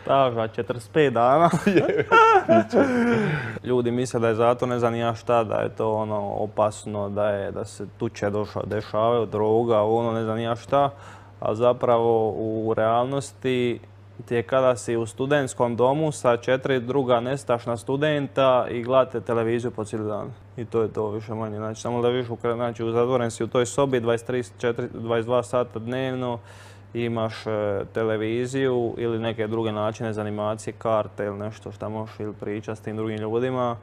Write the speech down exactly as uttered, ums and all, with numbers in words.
Staža četrdeset pet dana. Ljudi misle da je zato ne znam ja šta, da je to ono opasno, da, je, da se tuče došao, dešavaju, droga, ono ne znam ja šta. A zapravo u realnosti ti je kada si u studentskom domu sa četiri druga nestašna studenta i gledate televiziju po cijeli dan. I to je to više manje. Znači, samo da viš, znači, zatvoren si u toj sobi dvadeset tri, dvadeset dva sata dnevno, imaš e, televiziju ili neke druge načine za animacije, karte ili nešto šta možeš ili pričati s tim drugim ljudima.